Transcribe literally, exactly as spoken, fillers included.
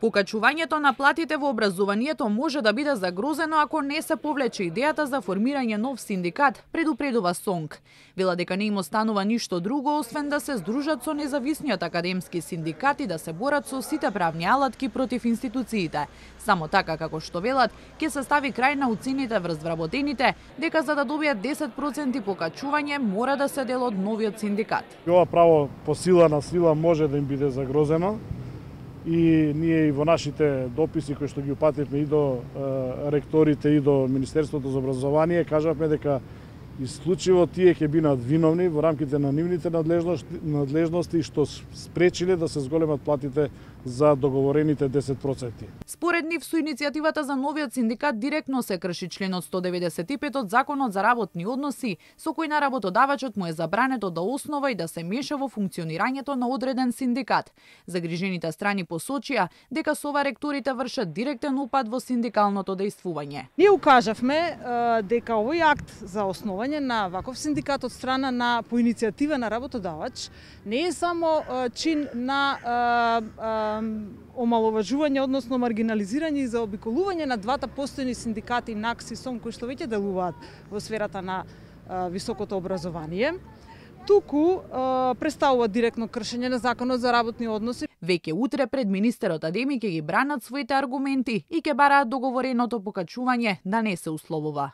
Покачувањето на платите во образованието може да биде загрозено ако не се повлече идејата за формирање нов синдикат, предупредува СОНК. Вела дека не им останува ништо друго освен да се здружат со независниот академски синдикат и да се борат со сите правни алатки против институциите. Само така како што велат, ќе се стави крај на уцените врз вработените, дека за да добијат десет проценти покачување мора да се дел од новиот синдикат. Ова право по сила на сила може да им биде загрозено. И ние и во нашите дописи кои што ги упативме и до е, ректорите и до Министерството за образование кажавме дека исклучиво тие ќе бидат виновни во рамките на нивните надлежности, надлежности што спречиле да се зголемат платите за договорените десет проценти. Според нив со иницијативата за новиот синдикат директно се крши членот сто деветдесет и пет од Законот за работни односи, со кој на работодавачот му е забрането да основа и да се меша во функционирањето на одреден синдикат. Загрижените страни посочија дека со ова ректорите вршат директен упад во синдикалното дејствување. Ние укажавме дека овој акт за основање на ваков синдикат од страна на по иницијатива на работодавач не е само чин на омаловажување, односно маргинализирање и заобиколување на двата постојни синдикати НАКС и СОНК кои што веќе делуваат во сферата на а, високото образование, туку а, представува директно кршење на Законот за работни односи. Веќе утре пред министерот Адеми ќе ги бранат своите аргументи и ќе бараат договореното покачување да не се условува.